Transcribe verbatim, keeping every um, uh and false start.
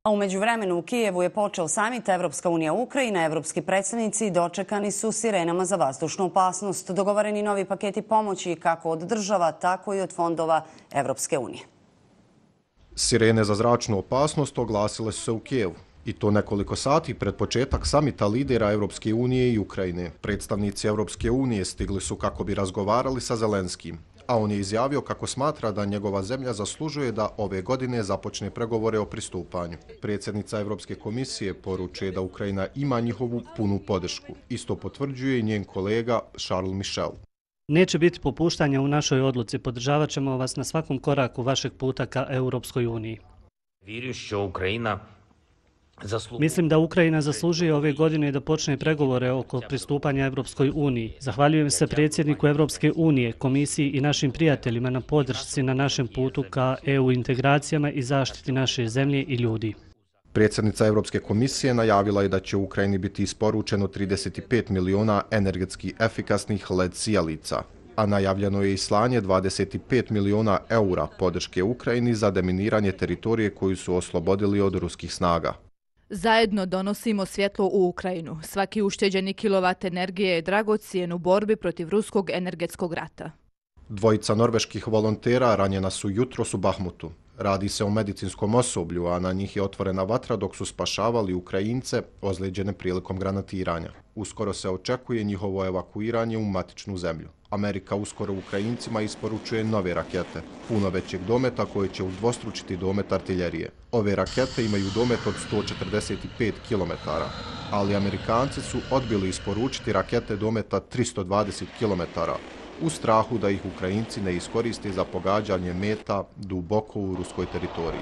A u međuvremenu u Kijevu je počeo samit Evropska unija Ukrajina. Evropski predstavnici dočekani su sirenama za vazdušnu opasnost. Dogovoreni novi paketi pomoći kako od država, tako i od fondova Evropske unije. Sirene za zračnu opasnost oglasile su se u Kijevu. I to nekoliko sati pred početak samita lidera Evropske unije i Ukrajine. Predstavnici Evropske unije stigli su kako bi razgovarali sa Zelenskim, a on je izjavio kako smatra da njegova zemlja zaslužuje da ove godine započne pregovore o pristupanju. Predsjednica Evropske komisije poručuje da Ukrajina ima njihovu punu podršku. Isto potvrđuje i njen kolega Charles Michel. Neće biti popuštanja u našoj odluci. Podržavat ćemo vas na svakom koraku vašeg puta ka Europskoj uniji. Mislim da Ukrajina zaslužuje ove godine da počne pregovore oko pristupanja Europskoj uniji. Zahvaljujem se predsjedniku Europske unije, komisiji i našim prijateljima na podršci na našem putu ka E U integracijama i zaštiti naše zemlje i ljudi. Predsjednica Evropske komisije najavila je da će u Ukrajini biti isporučeno trideset pet miliona energetski efikasnih L E D sijalica, a najavljeno je i slanje dvadeset pet miliona eura podrške Ukrajini za deminiranje teritorije koju su oslobodili od ruskih snaga. Zajedno donosimo svjetlo u Ukrajinu. Svaki ušteđeni kilovat energije je dragocijen u borbi protiv ruskog energetskog rata. Dvojica norveških volontera ranjena su jutros u Bahmutu. Radi se o medicinskom osoblju, a na njih je otvorena vatra dok su spašavali Ukrajince ozlijeđene prilikom granatiranja. Uskoro se očekuje njihovo evakuiranje u matičnu zemlju. Amerika uskoro Ukrajincima isporučuje nove rakete, puno većeg dometa koje će udvostručiti domet artiljerije. Ove rakete imaju domet od sto četrdeset pet kilometara, ali Amerikanci su odbili isporučiti rakete dometa tristo dvadeset kilometara, u strahu da ih Ukrajinci ne iskoriste za pogađanje meta duboko u ruskoj teritoriji.